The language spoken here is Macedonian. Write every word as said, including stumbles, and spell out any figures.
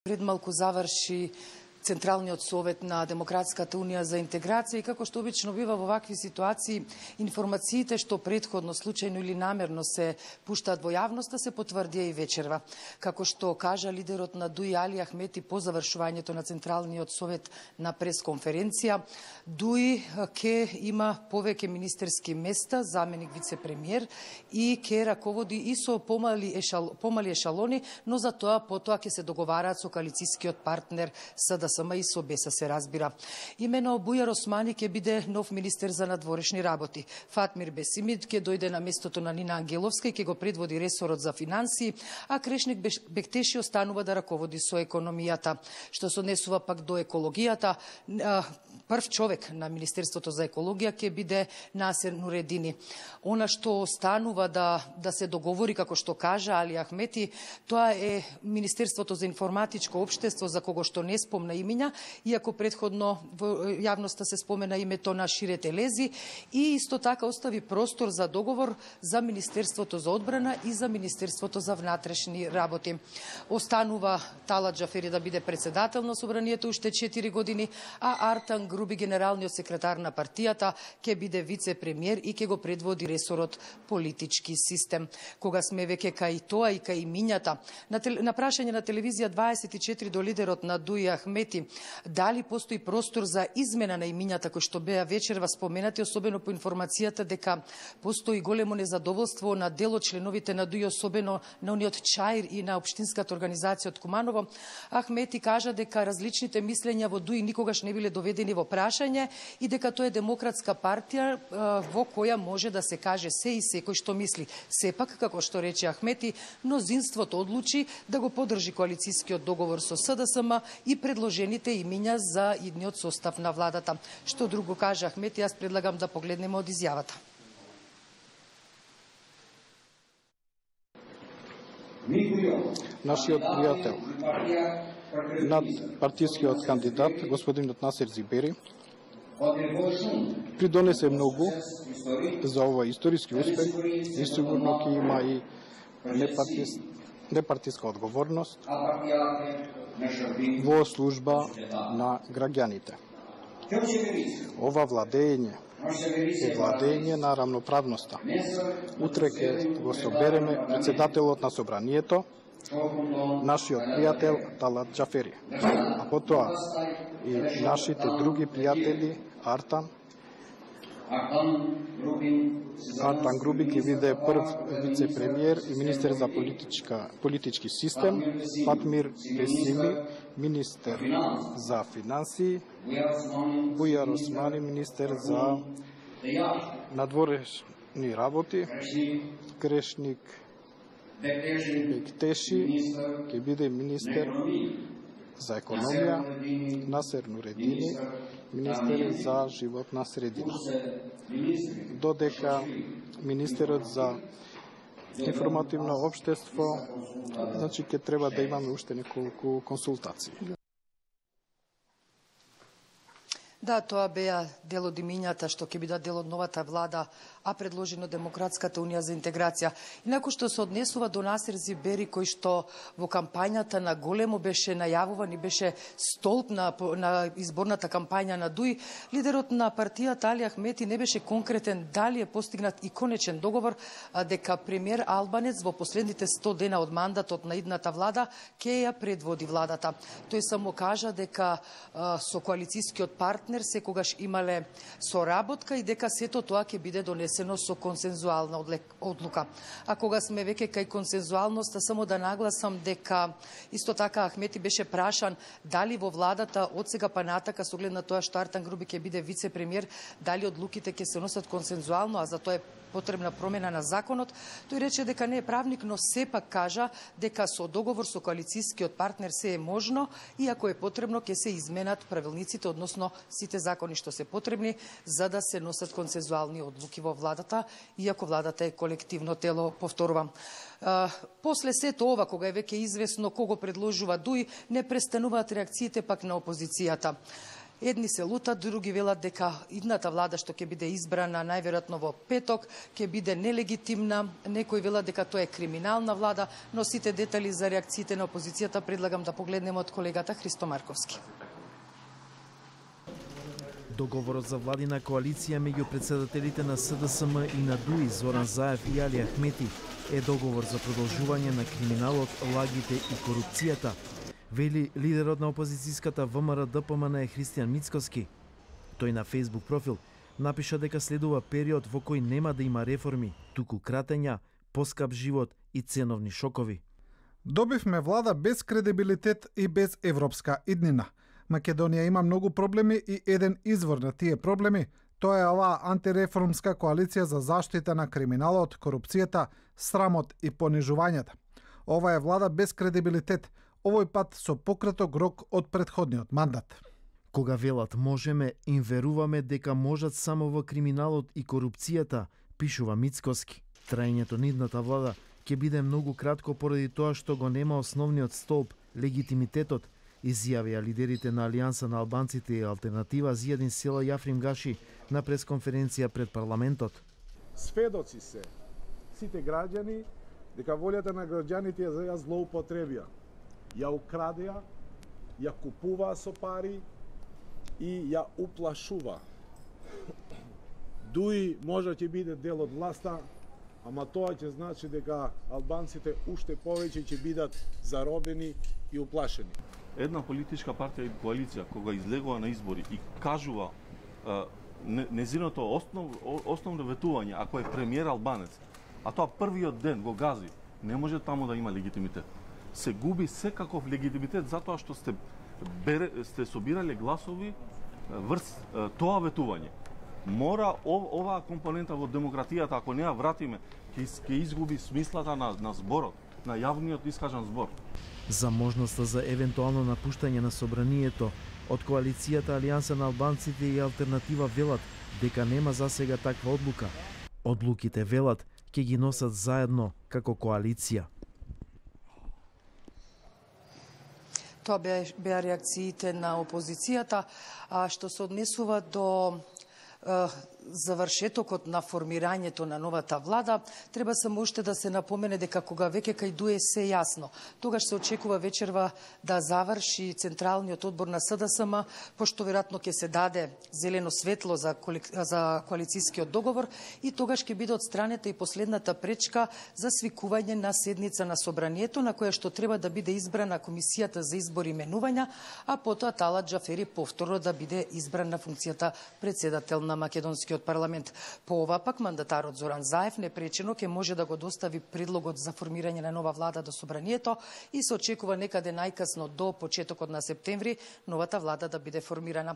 Пред малку заврши Централниот совет на Демократската унија за интеграција и како што обично бива во вакви ситуации, информациите што претходно случајно или намерно се пуштаат во јавноста се потврдија и вечерва. Како што кажа лидерот на ДУИ Али Ахмети по завршувањето на Централниот совет на пресконференција, ДУИ ке има повеќе министерски места, заменик вице-премиер и ке раководи и со помали, ешал, помали ешалони, но за тоа потоа ќе се договараат со коалицијскиот партнер СДСМ и со БЕСА се разбира. Имено Бујар Османи ќе биде нов министер за надворешни работи. Фатмир Бесимид ќе дојде на местото на Нина Ангеловска и ќе го предводи ресорот за финансии, а Крешник Бектеши останува да раководи со економијата. Што се однесува пак до екологијата, прв човек на Министерството за екологија ќе биде Насер Нуредини. Она што останува да, да се договори, како што кажа Али Ахмети, тоа е Министерството за информатичко општество, за кого што не спомна имиња, иако предходно во јавноста се спомена името на Шире Телези, и исто така остави простор за договор за Министерството за одбрана и за Министерството за внатрешни работи. Останува Талат Џафери да биде председател на собранието уште четири години, а Артан Груби, генералниот секретар на партијата, ќе биде вице-премиер и ќе го предводи ресорот политички систем. Кога сме веќе кај тоа и кај имињата, на, тел... на прашање на телевизија дваесет и четири до лидерот на ДУИ Ахмети, дали постои простор за измена на имињата кои што беа вечерва споменати, особено по информацијата дека постои големо незадоволство на дел од членовите на ДУИ, особено на униот Чаир и на општинската организација од Куманово, Ахмети кажа дека различните мислења во ДУИ никогаш не биле доведени во прашање и дека тоа е демократска партија во која може да се каже се и секој што мисли. Сепак, како што рече Ахмети, мнозинството одлучи да го поддржи коалицијскиот договор со СДСМ и предложените имиња за идниот состав на владата. Што друго кажа Ахмети, јас предлагам да погледнеме од изјавата. Нашиот пријател, над партискиот кандидат, господинот Насер Зибери, придонесе многу за овој историски успех и сигурно ќе има и непартис, непартиска одговорност во служба на граѓаните. Ова владење е владење на рамноправноста. Утре ќе го собереме председателот на собранието, нашиот пријател Талат Џафери, а потоа и нашите други пријатели Артан, Артан Груби ќе биде прв вице-премиер и министер за политичка, политички систем, Фатмир Бесими, министер за финансии, Бујар Османи, министер за надворешни работи, Крешник Бектеши ќе биде министер за економија, Насер Нуредини, министер за животна средина. Додека министерот за информативно општество, значи ќе треба да имаме уште неколку консултации. Да, тоа беа дел од имињата што ќе бидат дел од новата влада, а предложено Демократската унија за интеграција. Инаку што се однесува до Насер Зибери, кој што во кампањата на големо беше најавуван и беше столб на, на изборната кампања на ДУИ, лидерот на партијата Али Ахмети не беше конкретен дали е постигнат и конечен договор дека премиер Албанец во последните сто дена од мандатот на идната влада ќе ја предводи владата. Тој само кажа дека а, со коалицијскиот партнер секогаш имале соработка и дека сето тоа ќе биде донесено со консензуална одлука. А кога сме веќе кај консензуалноста, само да нагласам дека исто така Ахмети беше прашан дали во владата од сега па натака, со оглед на тоа што Артан Груби ќе биде вице-премиер, дали одлуките ќе се носат консензуално, а за тоа е потребна промена на законот. Тој рече дека не е правник, но сепак кажа дека со договор со коалицијскиот партнер се е можно и ако е потребно ќе се изменат правилниците, односно сите закони што се потребни за да се носат консензуални одлуки во владата, иако владата е колективно тело, повторувам. Uh, после сето ова, кога е веќе известно кого предложува ДУИ, не престануваат реакциите пак на опозицијата. Едни се лутат, други велат дека идната влада што ќе биде избрана најверојатно во петок ќе биде нелегитимна, некои велат дека тоа е криминална влада, но сите детали за реакциите на опозицијата предлагам да погледнеме од колегата Христо Марковски. Договорот за владина коалиција меѓу председателите на С Д С М и на ДУИ Зоран Заев и Али Ахмети е договор за продолжување на криминалот, лагите и корупцијата, вели лидерот на опозицијската В М Р Д П М Н е Христијан Мицкоски. Тој на Facebook профил напиша дека следува период во кој нема да има реформи, туку кратења, поскап живот и ценовни шокови. Добивме влада без кредибилитет и без европска иднина. Македонија има многу проблеми и еден извор на тие проблеми, тоа е оваа антиреформска коалиција за заштита на криминалот, корупцијата, срамот и понижувањата. Ова е влада без кредибилитет, овој пат со пократок рок од претходниот мандат. Кога велат можеме, им веруваме дека можат само во криминалот и корупцијата, пишува Мицкоски. Траењето на идната влада ќе биде многу кратко поради тоа што го нема основниот столб, легитимитетот, изјавија лидерите на Алијанса на албанците и Алтернатива Зијадин Села Јафрим Гаши на пресконференција пред парламентот. Сведоци се сите граѓани дека волјата на граѓаните ја злоупотребија, ја украдеа, ја купуваа со пари и ја уплашува. Дуи може ќе биде дел од власта, ама тоа ќе значи дека албанците уште повеќе ќе бидат заробени и уплашени. Една политичка партија и коалиција кога излегува на избори и кажува е, незиното основ, основно ветување, ако е премиер албанец, а тоа првиот ден го гази, не може таму да има легитимитет. Се губи секаков легитимитет затоа што сте бере, сте собирале гласови врз тоа ветување. Мора ов, оваа компонента во демократијата, ако не ја вратиме, ќе, ќе изгуби смислата на, на зборот, на јавниот искажан збор. За можноста за евентуално напуштање на собранието, од коалицијата Алијанса на албанците и Алтернатива велат дека нема засега таква одлука. Одлуките велат ќе ги носат заедно како коалиција. Тоа беа реакциите на опозицијата, а што се однесува до завршетокот на формирањето на новата влада, треба само уште да се напомене дека кога веќе кај ДУИ се јасно, тогаш се очекува вечерва да заврши Централниот одбор на С Д С М, пошто веројатно ќе се даде зелено светло за, коли... за коалицијскиот договор и тогаш ќе биде отстранета и последната пречка за свикување на седница на собранието, на која што треба да биде избрана Комисијата за избор и именувања, а потоа Талат Џафери повторно да биде избран на функцијата председател на македонскиот парламент. По ова пак мандатарот Зоран Заев непречено ќе може да го достави предлогот за формирање на нова влада до собранието и се очекува некаде најкасно до почетокот на септември новата влада да биде формирана.